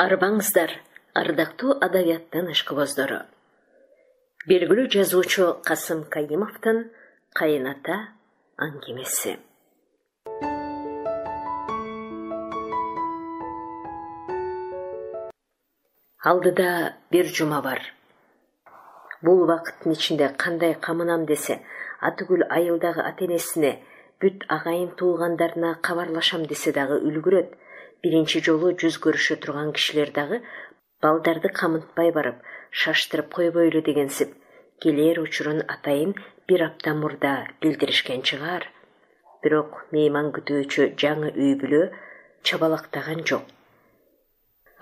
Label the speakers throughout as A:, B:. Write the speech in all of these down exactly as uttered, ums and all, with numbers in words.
A: Арбаңыздар, ардактуу адабияттын ишкыбоздору. Белгилүү жазуучу Касым Кайымовдун «Кайын-ата» аңгемеси. Алдыда бир жума бар. Бул убакыттын ичинде кандай камынам десе, атүгүл айылдагы ата-энесине, бүт агайын туугандарына кабарлашам десе дагы үлгүрөт. Биринчи жолу жүз көрүшө турган кишилер дагы балдарды камынтпай барып, шаштырып койбойлу дегенсип, келер учурун атайын бир апта мурда билдиришкен чыгар. Бирок мейман күтүүчү жаңы үй бүлө чабалактаган жок.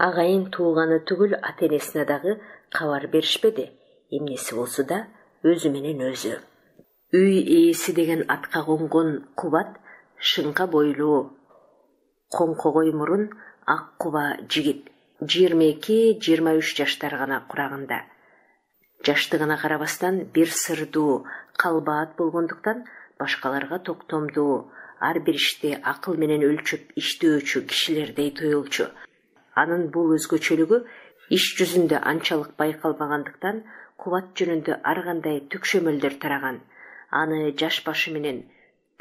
A: Агайын тууганы түгүл ата-энесине дагы кабар беришпеди. Эмнеси болсо да өзү менен өзү. Үй ээси деген атка конгон Кубат шыңка бойлуу, коңкогой мурун, ак куба жигит, жыйырма эки жыйырма үч жаштар гана курагында. Жаштыгына карабастан бир сырдуу, калбаат болгондуктан башкаларга токтомдуу, ар бир ишти акыл менен өлчөп иштөөчү кишилердей тоюлчу. Анын бул өзгөчөлүгү иш жүзүндө анчалык байкалбагандыктан Кубат жөнүндө ар кандай түкшөмөлдөр тараган. Аны жаш башы менен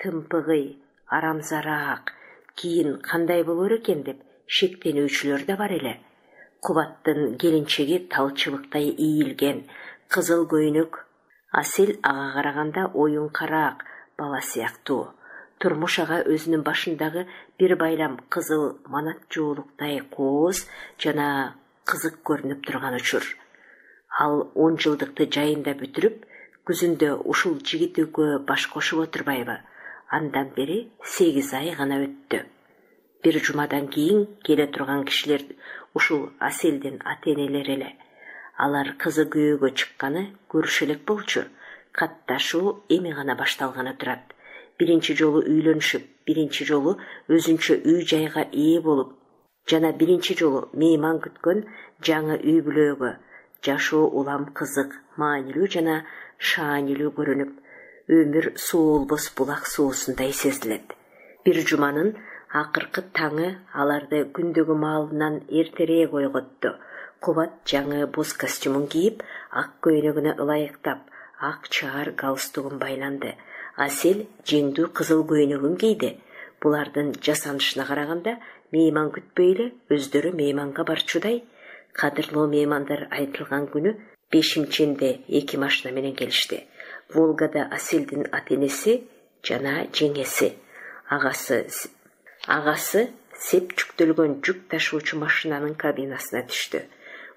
A: тымпыгый, арамзараак, кийин кандай болор экен деп шектенүүчүлөр да бар эле. Кубаттын келинчеги талчыбыктай ийилген, кызыл көйнөк, Асел ага караганда оюнкараак бала сыяктуу. Турмуш ага өзүнүн башындагы бир байлам кызыл манат жуулуктай кооз жана кызык көрүнүп турган учур. Ал он жылдыкты жайында бүтүрүп, күзүндө ушул жигит экөө баш кошуп отурбайбы? Андан бери сегиз ай гана өттү. Бир жумадан кийин келе турган кишилер ушул Аселдин ата-энелери эле. Алар кызы күйөөгө чыкканы көрүшө элек болчу. Катташуу эми гана башталганы турат. Биринчи жолу үйлөнүшүп, биринчи жолу өзүнчө үй жайга ээ болуп, жана биринчи жолу мейман күткөн жаңы үй бүлөөгө жашоо улам кызык, маанилүү жана шаанилүү көрүнүп, өмүр суулбос булак суусундай сезилет. Бир жуманын акыркы таңы аларды күндөгү маалынан эртерээк ойготту. Кубат жаңы боз костюмун кийип, ак көйнөгүнө ылайыктап, ак чаар галстугун байланды. Асел жеңдүү кызыл көйнөгүн кийди. Булардын жасанышына караганда мейман күтпөй эле өздөрү мейманга барчудай. Кадырлуу меймандар айтылган күнү бешимченде эки машина менен келишти. Волгада Аселдин ата-энеси жана жеңеси. Агасы агасы сеп жүктөлгөн жүк ташуучу машинанын кабинасына түштү.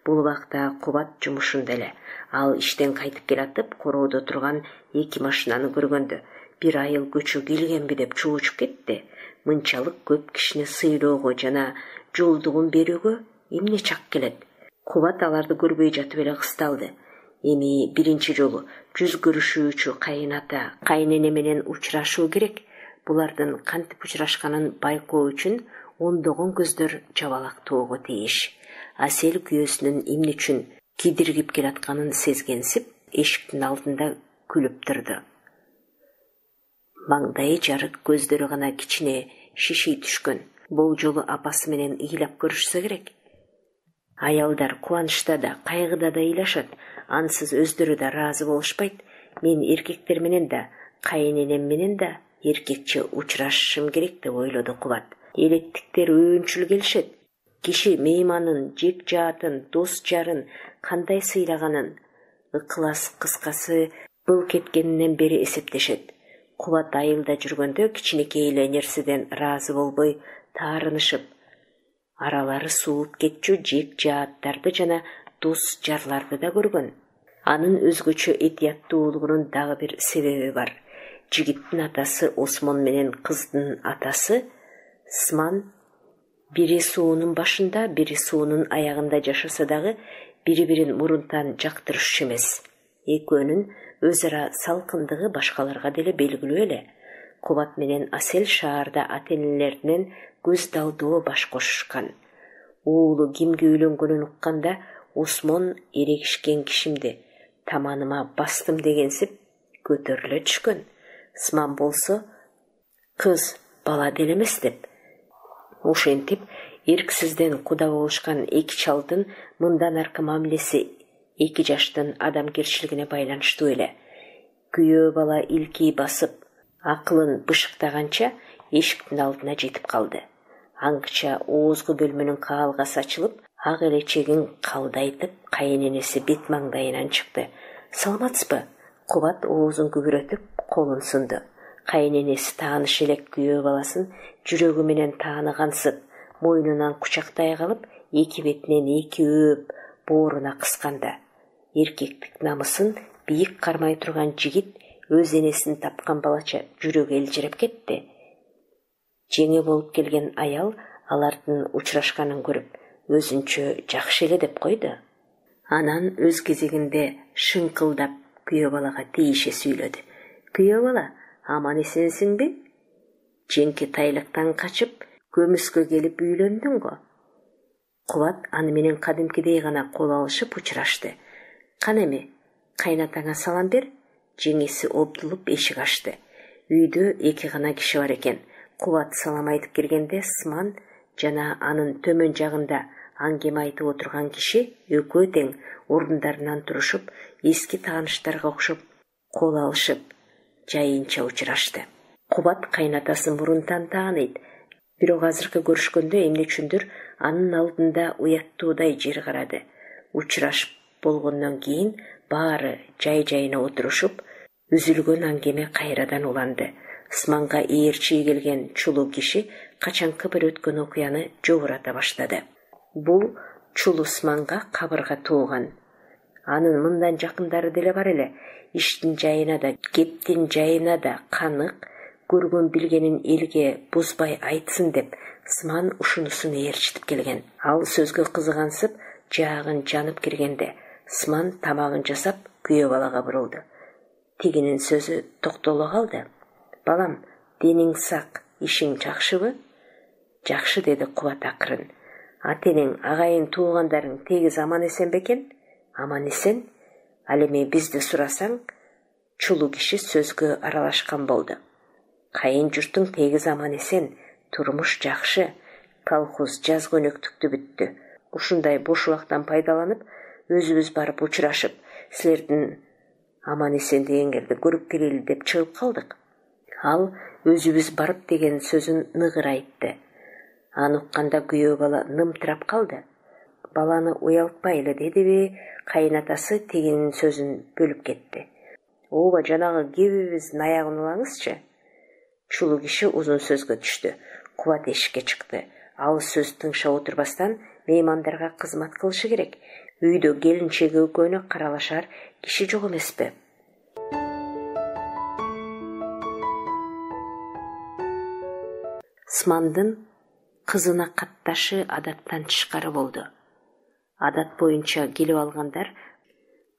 A: Бул убакта Кубат жумушунда эле. Ал иштен кайтып келатып, короодо турган эки машинаны көргөндө бир айыл көчө келгенби деп чуучуп кетти. Мынчалык көп кишини сыйлоого жана жолдугун берүүгө эмне чак келет? Кубат аларды көрбөй жатып эле кысталды. Эми биринчи жолу жүз көрүшүүчү кайын-ата, кайнене менен учурашуу керек. Булардын кантип учурашканын байкоо үчүн ондогон көздөр жабалактоого тийиш. Асел күйөөсүнүн эмне үчүн кидиргип келатканын сезгенсип, эшиктин алдында күлүп турду. Маңдайы жарык, көздөрү гана кичине шиший түшкөн. Бул жолу апасы менен ыйлап көрүшсө керек. Аялдар кубанычта да, кайгыда да ыйлашат. Ансыз өздөрү да ыраазы болушпайт. Мен эркектер менен да, кайненем менен да эркекче учурашышым керек деп ойлоду Кубат. Элеттиктер өөнчүл келишет. Киши мейманын, жек жаатын, дос жарын кандай сыйлаганын, ыкылас кыскасы бул кеткенинен бери эсептешет. Кубат айылда жүргөндө кичинекей эле нерседен ыраазы болбой таарынышып, аралары сууп кетчү жек жааттарды жана дос жарларды да көргөн. Анын өзгөчө этияттуулугунун дагы бир себеби бар. Жигиттин атасы Осмон менен кыздын атасы Сыман бири суунун башында, бири суунун аягында жашаса дагы бири-бирин мурунтан жактырышчу эмес. Экөөнүн өз ара салкындыгы башкаларга деле белгилүү эле. Кубат менен Асел шаарда ата-энелеринен көз далдоо баш кошушкан. Уулу кимге үйлөнгөнүн укканда Осмон эрегишкен кишимди таманыма бастым дегенсип көтөрүлө түшкөн. Сыман болсо кыз бала деле эмес деп. Ошентип Эрксизден куда болушкан эки чалдын мындан аркы мамилеси эки жаштын адамгерчилигине байланыштуу эле. Күйөө бала илкий басып, акылын бышыктаганча эшиктин алдына жетип калды. Аңгыча оозгу бөлмөнүн каалгасы ачылып, ак элечегин калдайтып, кайыненеси бет маңдайынан чыкты. Саламатсызбы? Кубат оозун күбүрөтүп, колун сунду. Кайыненеси тааныш элек күйөө баласын жүрөгү менен таанығансып, мойнунан кучактай калып, эки бетинен эки өөп, бооруна кысканда. Эркектик намысын бийик кармай турган жигит өз энесин тапкан балача жүрөгү элжиреп кетти. Жеңе болуп келген аял алардын учурашканын көрүп, өзүнчө жакшы эле деп койду. Анан өз кезегинде шыңкылдап күйөө балага тийише сүйлөдү. Күйөө бала, аман эсенсиңби? Жеңки тайлыктан качып, көмүскө келип үйлөндүң го. Кубат аны менен кадимкидей гана кол алышып учурашты. Кана эми, кайнатаңа салам бер. Жеңеси обдулуп эшик ачты. Үйдө эки гана киши бар экен. Кубат салам айтып киргенде Сман жана анын төмөн жагында аңгеме айтып отурган киши экөө тең ордундарынан турушуп, эски тааныштарга окшоп кол алышып, жайынча учурашты. Кубат кайнатасын мурун тааныйт. Бирок азыркы көрүшкөндө эмне үчүндүр анын алдында уяттуудай жер карады. Учурашып болгондон кийин баары жай-жайына отурушуп, үзүлгөн аңгеме кайрадан уланды. Сманга ээрчи келген чулуу киши качанкы бир өткөн окуяны жогурата баштады. Бул чулуу Сманга кабырга тууган. Анын мындан жакындары деле бар эле. Иштин жайына да, кептин жайына да канык, көргөн билгенин элге бузбай айтсын деп Сман ушунусун ээрчитип келген. Ал сөзгө кызыгансып, жаагын жанып киргенде Сман тамагын жасап күйөө балага бурулду. Тигинин сөзү токтоло калды. Балам, дениң сак, ишиң жакшыбы? Жакшы, деди Кубат акырын. Атенең, агайын туугандарың тегиз аман эсен бекен? Аман эсен. Ал эми бизди сурасаң, чулуу киши сөзгө аралашкан болду. Кайын журтуң тегиз аман эсен, турмуш жакшы, колхоз жаз көнөктүктү бүттү. Ушундай бош убактан пайдаланып, өзүбүз барып учурашып, силердин аман эсен дегендерди көрүп келели деп чыгып калдык. Ал өзүбүз барып деген сөзүн ныгыр айтты. Аны укканда күйөө бала нымтырап калды. Баланы уялтпайлы дедиби, кайнатасы тигинин сөзүн бөлүп кетти. Ооба, жанагы кебибиздин аягын улаңызчы. Чулуу киши узун сөзгө түштү. Кубат эшикке чыкты. Ал сөз тыңшап отурбастан меймандарга кызмат кылышы керек. Үйдө келинчеги экөөнө каралашар киши жок эмеспи? Смандын кызына катташы адаттан тышкары болду. Адат боюнча келип алгандар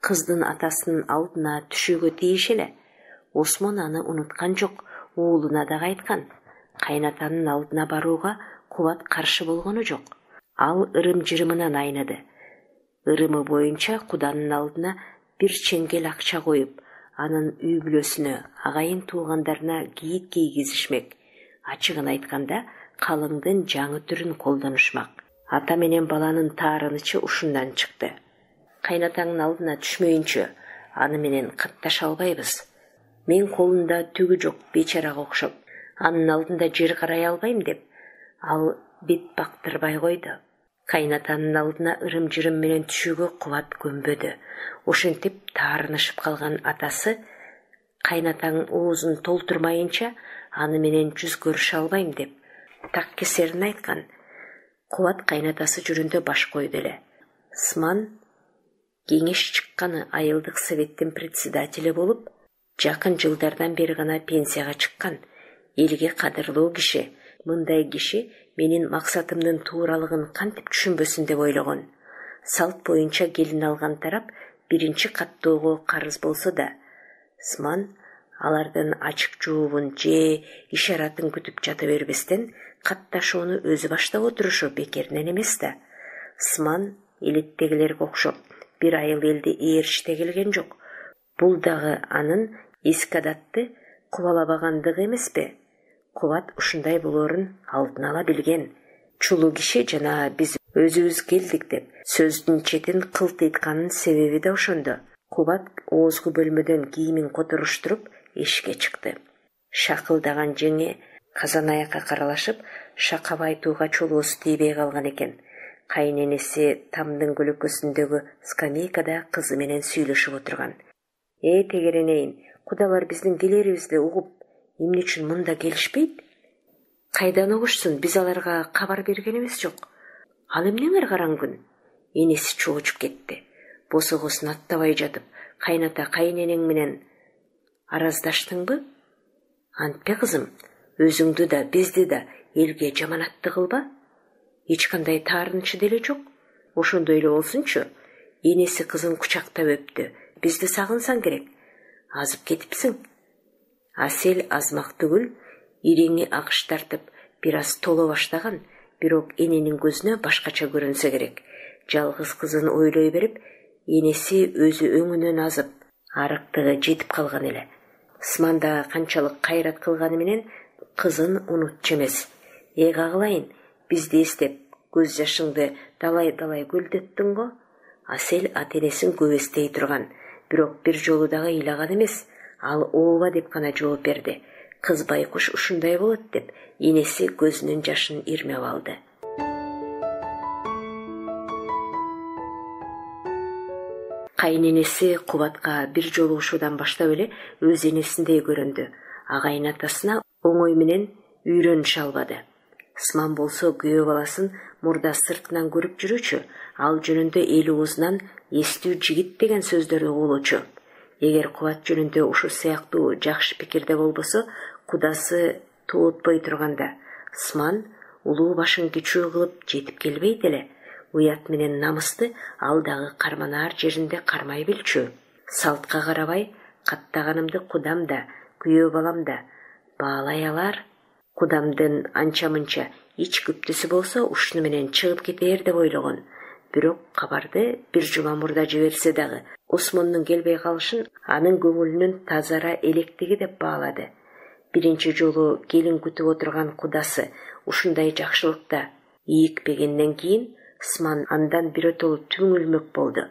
A: кыздын атасынын алдына түшүүгө тийиш эле. Осмон аны унуткан жок, уулуна дагы айткан. Кайнатанын алдына барууга Кубат каршы болгону жок. Ал ырым-жырымынан айныды. Ырымы боюнча куданын алдына бир чеңгел акча коюп, анын үй бүлөсүнө, агайын туугандарына кийит кийгизишмек. Ачыгын айтканда, калыңдын жаңы түрүн колдонушмак. Ата менен баланын таарынычы ушундан чыкты. Кайнатаңдын алдына түшмөйүнчө, аны менен катташа албайбыз. Мен колунда түгү жок бечарага окшоп, анын алдында жер карай албайм деп, ал бет бактырбай койду. Кайнатанын алдына ырым-жырым менен түшүүгө Кубат көнбөдү. Ошентип таарынышып калган атасы, кайнатаң оозун толтурмайынча аны менен жүз көрүшө албайм деп, так кесерин айткан. Кубат кайнатасы жүрүндө баш койду эле. Сман кеңеш чыкканы айылдык советтин председатели болуп, жакын жылдардан бери гана пенсияга чыккан. Элге кадырлуу киши. Мындай киши менин максатымдын тууралыгын кантип түшүнбөсүн деп ойлогон. Салт боюнча келин алган тарап биринчи каттоого карыз болсо да, Сман алардын ачык жообун же ишаратын күтүп жата бербестен катташууну өзү баштап отурушу бекеринен эмес да. Сман элеттегилерге окшоп бир айыл элди ээрчите келген жок. Бул дагы анын эски адатты кубалабагандыгы эмеспи? Кубат ушундай болоорун алдын ала билген. чулуу киши жана биз өзүбүз келдик деп сөздүн четин кылтыйтканын себеби да ошондо. Кубат оозгу бөлмөдөн кийимин которуштуруп эшикке чыкты. Шакылдаган жеңе казан аякка каралашып, шакап айтууга чолуусу тийбей калган экен. Кайненеси тамдын көлөкөсүндөгү скамейкада кызы менен сүйлөшүп отурган. Э тегеренейин, кудалар биздин келерибизди угуп, эмне үчүн мында келишпейт? Кайдан угушсун, биз аларга кабар бергенибиз жок. Ал эмнеңер караң күн? Энеси чоочуп кетти. Босогосун аттабай жатып, кайната кайненең менен араздаштыңбы? Антпе кызым, өзүңдү да, бизди да элге жаманатты кылба. Эч кандай таарынчы деле жок. Ошондой эле болсунчу. Энеси кызын кучактап өптү. Бизди сагынсаң керек. Азып кетипсиң. Асел азмак түгүл, иреңи агыш тартып, бир аз толо баштаган, бирок эненин көзүнө башкача көрүнсө керек. Жалгыз кызын ойлой берип, энеси өзү өңүнөн азып, арыктыгы жетип калган эле. Сманда канчалык кайрат кылганы менен кызын унутчу эмес. Эга кылайын, бизди эстеп, көз жашыңды далай-далай көлдөттүң го. Асел ата-энесин көп эстей турган, бирок бир жолу дагы ыйлаган эмес. Ал ооба деп гана жооп берди. Кыз байкуш ушундай болот деп, энеси көзүнүн жашын ирмеп алды. Кайненеси Кубатка бир жолугушуудан баштап эле өз энесиндей көрүндү. Агайын атасына оңой менен үйрөнүшө албады. Сман болсо күйөө баласын мурда сыртынан көрүп жүрүүчү, ал жөнүндө эл оозунан эстүү жигит деген сөздөрдү угулуучу. Эгер Кубат жөнүндө ушу сыяктуу жакшы пикирде болбосо, кудасы туутпой турганда, Сман улуу башын кичүү кылып жетип келбейт эле. Уят менен намысты ал дагы карманаар жеринде кармай билчү. Салтка карабай, каттаганымды кудам да, күйөө балам да баалай алар. Кудамдын анча-мынча ич күптүсү болсо ушуну менен чыгып кетээр деп ойлогон. Бирок кабарды бир жума мурда жиберсе дагы, Осмондун келбей калышын анын көңүлүнүн тазара электиги деп баалады. Биринчи жолу келин күтүп отурган кудасы ушундай жакшылыкта ийикпегенден кийин Сман андан биротолу түңүлмөк болду.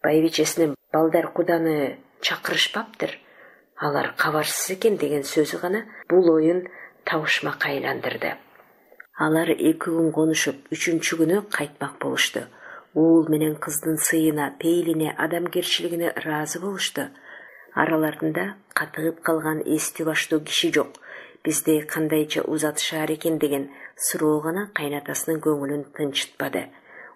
A: Байбичесинин балдар куданы чакырышпаптыр, алар кабарсыз экен деген сөзү гана бул оюн табышмакка айландырды. Алар эки күн конушуп, үчүнчү күнү кайтмак болушту. Уул менен кыздын сыйына, пейлине, адамгерчилигине ыраазы болушту. Араларында катыгып калган эстүү баштуу киши жок. Бизди кандайча узатышаар экен деген суроо гана кайнатасынын көңүлүн тынчытпады.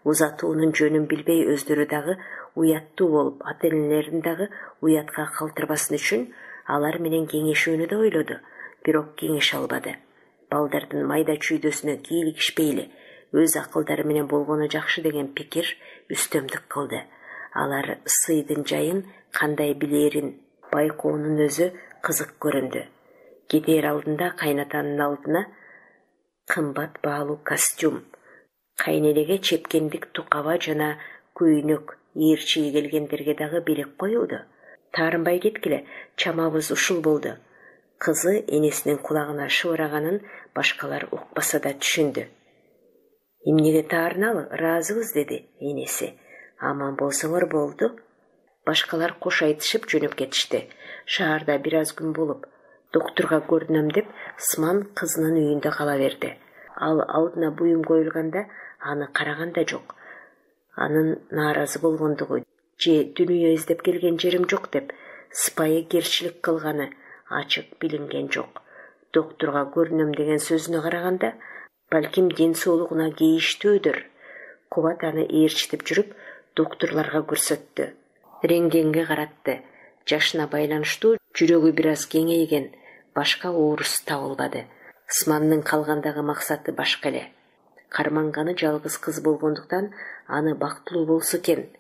A: Узатуунун жөнүн билбей өздөрү дагы уяттуу болуп, ата-энелерин дагы уятка калтырбасын үчүн алар менен кеңешүүнү да ойлоду, бирок кеңеше албады. Балдардын майда чүйдөсүнө кийлигишпейли, өз акылдары менен болгону жакшы деген пикир үстөмдүк кылды. Алар сыйдын жайын кандай билерин байкоонун өзү кызык көрүндү. Кетээр алдында кайнатанын алдына кымбат баалуу костюм, кайненеге чепкендик тукаба жана көйнөк ээрчиги келгендерге дагы белек коюлду. Таарынбай кеткиле, чамабыз ушул болду. Кызы энесинин кулагына шыбыраганын башкалар укпаса да түшүндү. Эмнеге таарыналы, ыраазыбыз деди энеси. Аман болсоңор болду. Башкалар кош айтышып жөнөп кетишти. Шаарда бир аз күн болуп, доктурга көрүнөм деп Сман кызынын үйүндө кала берди. Ал алдына буюм коюлганда аны караган да жок. Анын нааразы болгондугу же дүнүйө издеп келген жерим жок деп сыпайы керчилик кылганы ачык билинген жок. Доктурга көрүнөм деген сөзүнө караганда, балким ден соолугуна кейиштүүдүр. Кубат аны ээрчитип жүрүп, доктурларга көрсөттү. Рентгенге каратты. Жашына байланыштуу жүрөгү бир аз кеңейген, башка оорус табылбады. Смандын калгандагы максаты башка эле. Карманганы жалгыз кыз болгондуктан аны бактылуу болсо экен,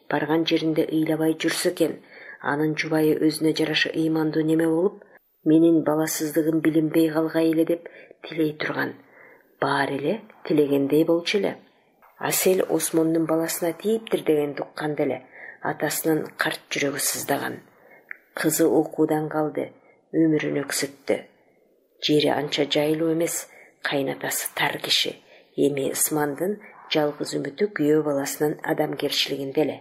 A: барган жеринде ыйлабай жүрсө экен, анын жубайы өзүнө жараша ыймандуу неме болуп, менин баласыздыгым билинбей калгай эле деп тилей турган. Баары эле тилегендей болчу эле. Асел Осмондун баласына тийиптир деген тукканда эле атасынын карт жүрөгү сыздаган. Кызы окуудан калды, өмүрүн өксүттү. Жери анча жайлуу эмес, кайнатасы тар киши, Эми Ысмандын жалгыз үмүтү күйөө баласынын адамгерчилигинде эле.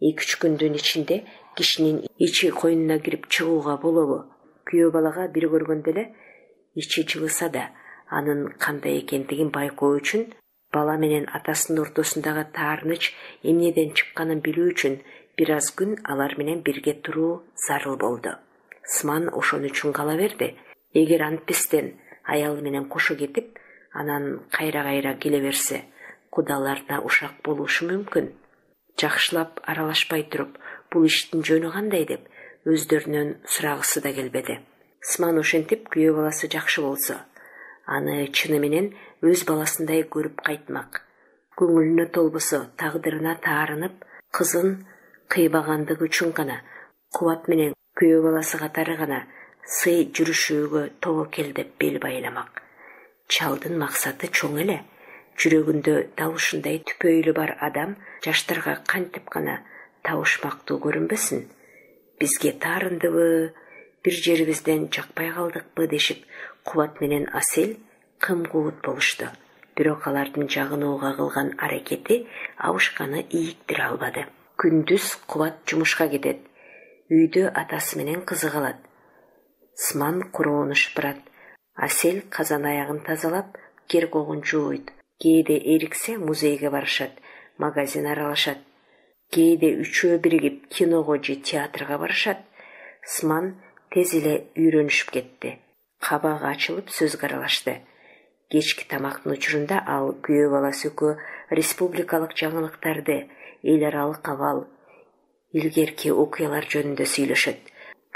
A: эки үч күндүн ичинде кишинин ичи койнуна кирип чыгууга болобу? Күйөө балага бир көргөндө эле ичи жылыса да, анын кандай экендигин байкоо үчүн, бала менен атасынын ортосундагы таарыныч эмнеден чыкканын билүү үчүн бир аз күн алар менен бирге туруу зарыл болду. Ысман ошон үчүн кала берди. Эгер антпестен аялы менен кошо кетип, анан кайра-кайра келе берсе, кудаларына ушак болушу мүмкүн. Жакшылап аралашпай туруп, бул иштин жөнү кандай деп өздөрүнөн сурагысы да келбеди. Ысман ошентип күйөө баласы жакшы болсо, аны чыны менен өз баласындай көрүп кайтмак. Көңүлүнө толбосо, тагдырына таарынып, кызын кыйбагандыгы үчүн гана, Кубат менен күйөө баласы катары гана сый жүрүшүүгө тобокел деп бел байламак. Чалдын максаты чоң эле. Жүрөгүндө дал ушундай түпөйлү бар адам жаштарга кантип гана табышмактуу көрүнбөсүн. Бизге таарындыбы, бир жерибизден жакпай калдыкпы дешип, Кубат менен Асел кым-куут болушту. Бирок алардын жагынууга кылган аракети абышканы ийиктире албады. Күндүз Кубат жумушка кетет. Үйдө атасы менен кызы калат. Ысман короону шыпырат. Асел казан аягын тазалап, керкогун жууйт. Кээде эриксе музейге барышат, магазин аралашат. Кээде үчөө биригип киного же театрга барышат. Ысман тез эле үйрөнүшүп кетти. Кабагы ачылып сөзгө аралашты. Кечки тамактын учурунда ал күйөө баласы экөө республикалык жаңылыктарды, эл аралык абал, илгерки окуялар жөнүндө сүйлөшөт.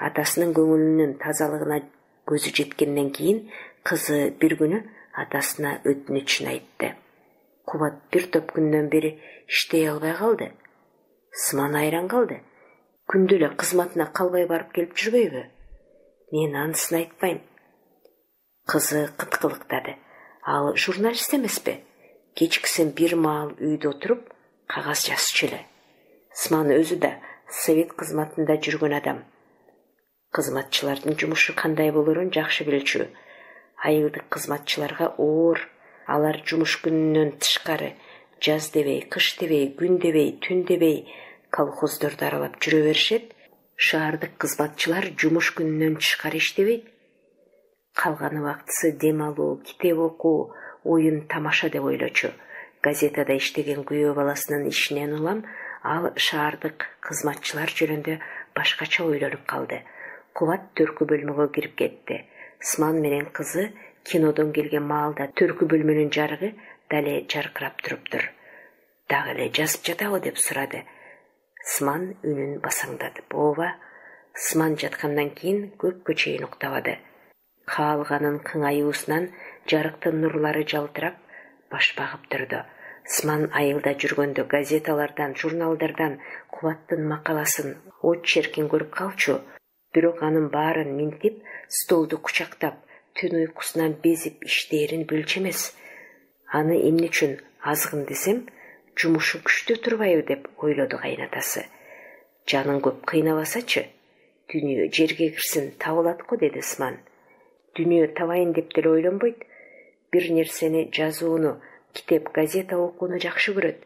A: Атасынын көңүлүнүн тазалыгына көзү жеткенден кийин кызы бир күнү атасына өтүнүчүн айтты. Кубат бир топ күндөн бери иштей албай калды. Ысман айран калды. Күндү эле кызматына калбай барып келип жүрбөйбү? Мен анысын айтпайм. Кызы кыткылыктады. Ал журналист эмеспи? Кечкисин бир маал үйдө отуруп, кагаз жазчу эле. Ысман өзү да совет кызматында жүргөн адам. Кызматчылардын жумушу кандай болорун жакшы билчү. Айылдык кызматчыларга оор, алар жумуш күнүнөн тышкары, жаз дебей, кыш дебей, күн дебей, түн дебей колхоздорду аралап жүрө беришет. Шаардык кызматчылар жумуш күнүнөн тышкары иштебейт. Калган убактысы дем алуу, китеп окуу, оюн тамаша деп ойлочу. Газетада иштеген күйөө баласынын ишинен улам ал шаардык кызматчылар жөнүндө башкача ойлонуп калды. Кубат төркү бөлмөгө кирип кетти. Ысман менен кызы кинодон келген маалда төркү бөлмөнүн жарыгы дале жаркырап туруптур. Дагы эле жазып жатабы деп сурады. Ысман үнүн басаңдатып, ооба. Ысман жаткандан кийин көпкө чейин уктабады. Каалганын кыңаюусунан жарыктын нурлары жалтырап, баш багып турду. Ысман айылда жүргөндө газеталардан, журналдардан Кубаттын макаласын, очеркин көрүп калчу. Бирок анын баарын минтип, столду кучактап, түн уйкусунан безип иштээрин билчү эмес. Аны эмне үчүн азгын десем, жумушу күчтүү турбайбы деп ойлоду кайнатасы. Жаның көп кыйнабасачы, дүнүйө жерге кирсин табылат го, деди Ысман. Дүнүйө табайын деп деле ойлонбойт. Бир нерсени жазууну, китеп, газета окууну жакшы көрөт.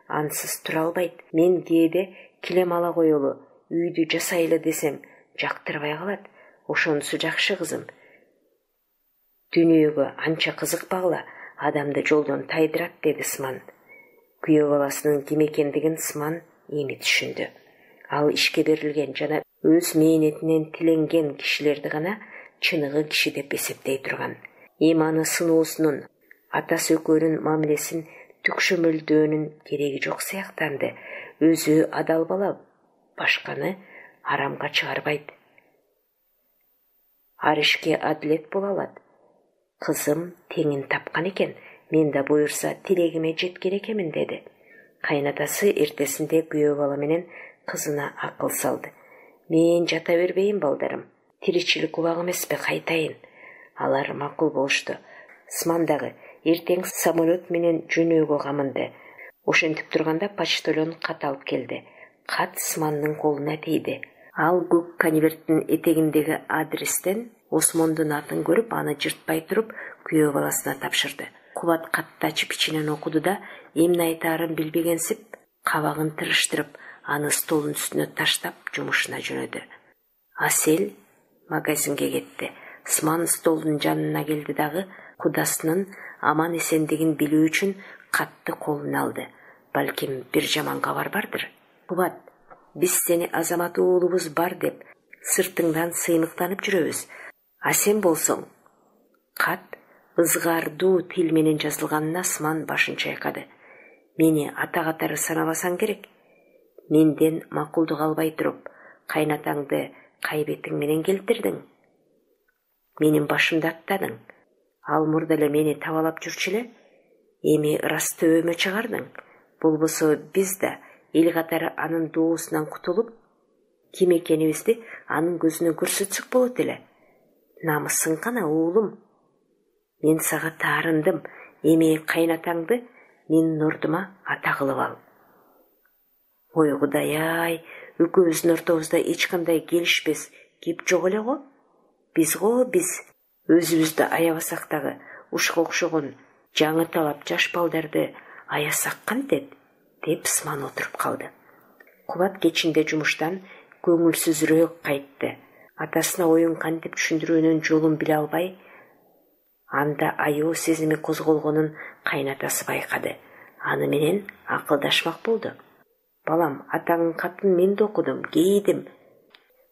A: Ансыз тура албайт. Мен кээде килем ала коелу, үйдү жасайлы десем, жактырбай калат. Ошонусу жакшы кызым. Дүнүйөгө анча кызыкпагыла, адамды жолдон тайдырат, деди Ысман. Күйөө баласынын ким экендигин Ысман эми түшүндү. Ал ишке берилген жана өз мээнетинен тиленген кишилерди гана чыныгы киши деп эсептей турган. Иманы сынуусунун, атасы экөөнүн мамилесин түкшөмөлдөөнүн кереги жок сыяктанды. Өзү адал бала, башканы арамга чыгарбайт. Ар ишке адилет боло алат. Кызым теңин тапкан экен, мен да буюрса тилегиме жеткен экенмин, деди. Кайнатасы эртесинде күйөө бала менен кызына акыл салды. Мен жата бербейин, балдарым. Тиричилик убак эмеспи, кайтайын. Алар макул болушту. Ысман дагы эртең самолет менен жөнөөгө камынды. Ошентип турганда почтальон кат алып келди. Кат Ысмандын колуна тийди. Ал көк конверттин этегиндеги адрестен Осмондун атын көрүп, аны жыртпай туруп, күйөө баласына тапшырды. Кубат катты ачып ичинен окуду да эмне айтаарын билбегенсип кабагын тырыштырып, аны столдун үстүнө таштап жумушуна жөнөдү. Асел магазинге кетти. Сман столдун жанына келди дагы кудасынын аман эсендигин билүү үчүн катты колуна алды. Балким бир жаман кабар бардыр. Кубат, биз сени Азамат уулубуз бар деп сыртыңдан сыйныктанып жүрөбүз. А сен болсоң. Кат ызгаардуу тил менен жазылганына Сман башын чайкады. Мени ата катары санабасаң керек. Менден макулдук албай туруп, кайнатаңды кайбетиң менен келтирдиң. Менин башымды аттадың. Ал мурда эле мени табалап жүрчү эле. Эми ырас төбөмө чыгардың. Болбосо биз да эл катары анын доосунан кутулуп, ким экенибизди анын көзүнө көрсөтсөк болот эле. Намысың кана, уулум. Мен сага таарындым. Эми кайнатаңды менин ордума ата кылып ал. Ой Кудай-ай, экөөбүздүн ортобузда эч кандай келишпес кеп жок эле го. Биз го биз өзүбүздү аябасак дагы ушуга окшогон жаңы талап жаш балдарды аясак кантет, деп Сман отуруп калды. Кубат кечинде жумуштан көңүлсүзүрөөк кайтты. Атасына оюн кантип түшүндүрүүнүн жолун биле албай, анда аяоо сезими козголгонун кайнатасы байкады. Аны менен акылдашмак болду. Балам, атаңдын катын мен да окудум, кейдим.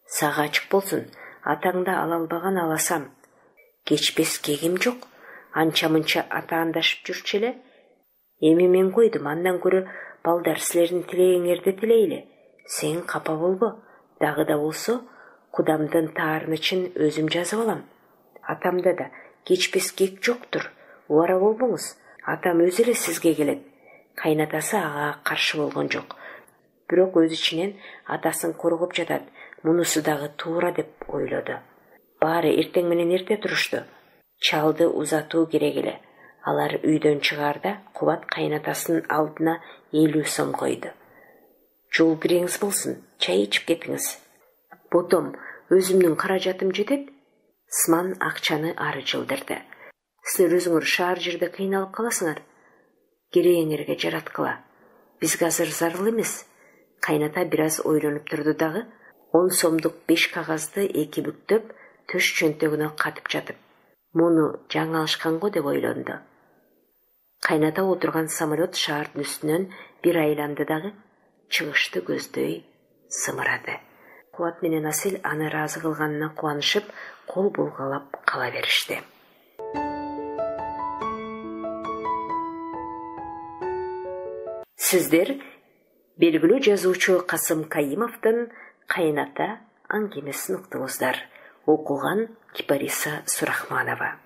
A: Сага ачык болсун, атаңды ала албаган аласам. Кечпес кегим жок. Анча-мынча атаандашып жүрчү эле. Эми мен койдум, андан көрө балдар силердин тилегиңерди тилейли. Сен капа болбо. Дагы да болсо, кудамдын таарынычын өзүм жазып алам. Атамда да кечпес кек жоктур. Убара болбоңуз. Атам өзү эле сизге келет. Кайнатасы ага каршы болгон жок. Бирок өз ичинен атасын коргоп жатат. Мунусу дагы туура деп ойлоду. Баары эртең менен эрте турушту. Чалды узатуу керек эле. Алар үйдөн чыгаарда Кубат кайнатасынын алдына элүү сом койду. Жол киреңиз болсун, чай ичип кетиңиз. Ботом, өзүмдүн каражатым жетет. Сман акчаны ары жылдырды. Силер өзүңөр шаар жерде кыйналып каласыңар. Керегиңерге жараткыла. Бизге азыр зарыл эмес. Кайната бир аз ойлонуп турду дагы, он сомдук беш кагазды эки бүктөп, төш чөнтөгүнө катып жатып, муну жаңы алышкан го деп ойлонду. Кайната отурган самолет шаардын үстүнөн бир айланды дагы, чыгышты көздөй сымырады. Кубат менен Асел аны ыраазы кылганына кубанышып, кол булгалап кала беришти. Сиздер белгилүү жазуучу Касым Кайымовдун «Кайната» аңгемесин уктуңуздар. Окуган Кипариса Сурахманова.